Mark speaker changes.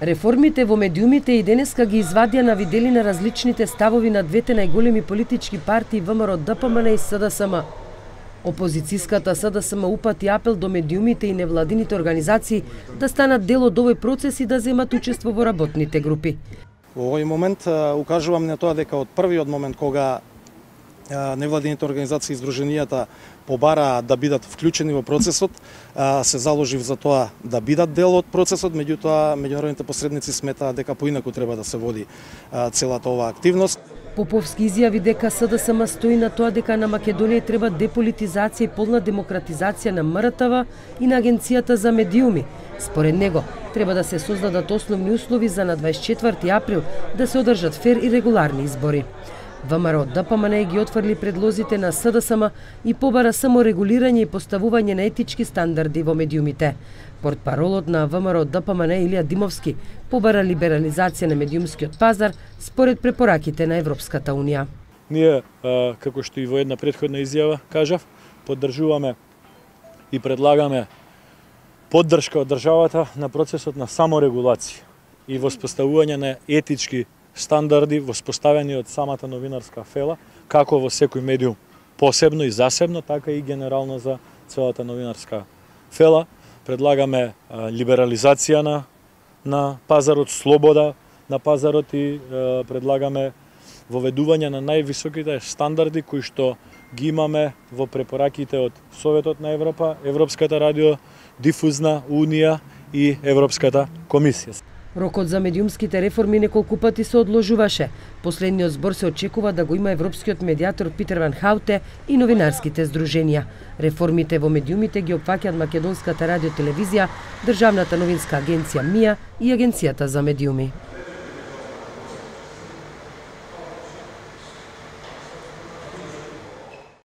Speaker 1: Реформите во медиумите и денеска ги извадија на виделина различните ставови на двете најголеми политички партии ВМРО ДПМН и СДСМ. Опозицијската СДСМ упати апел до медиумите и невладините организации да станат дел од овој процес и да земат учество во работните групи.
Speaker 2: Во овој момент укажувам на тоа дека од првиот момент кога невладините организации и здруженијата побараа да бидат вклучени во процесот, се заложив за тоа да бидат дел од процесот, меѓутоа меѓународните посредници сметаа дека поинаку треба да се води целата оваа активност.
Speaker 1: Поповски изјави дека СДСМ стои на тоа дека на Македонија треба деполитизација и полна демократизација на МРТВ и на Агенцијата за медиуми. Според него, треба да се создадат основни услови за на 24 април да се одржат фер и регуларни избори. ВМРО ДПМН ги отфрли предлозите на СДСМ и побара само регулирање и поставување на етички стандарди во медиумите. Портпаролот на ВМРО ДПМН Илија Димовски побара либерализација на медиумскиот пазар според препораките на Европската Унија.
Speaker 3: Ние, како што и во една претходна изјава кажав, поддржуваме и предлагаме поддршка од државата на процесот на саморегулација и воспоставување на етички стандарди воспоставени од самата новинарска фела, како во секој медиум посебно и засебно, така и генерално за целата новинарска фела. Предлагаме либерализација на пазарот, слобода на пазарот и предлагаме воведување на највисоките стандарди кои што ги имаме во препораките од Советот на Европа, Европската радиодифузна унија и Европската комисија.
Speaker 1: Рокот за медиумските реформи неколку пати се одложуваше. Последниот збор се очекува да го има европскиот медиатор Питер Ван Хауте и новинарските здруженија. Реформите во медиумите ги опфаќаат Македонската радиотелевизија, Државната новинска агенција МИА и Агенцијата за медиуми.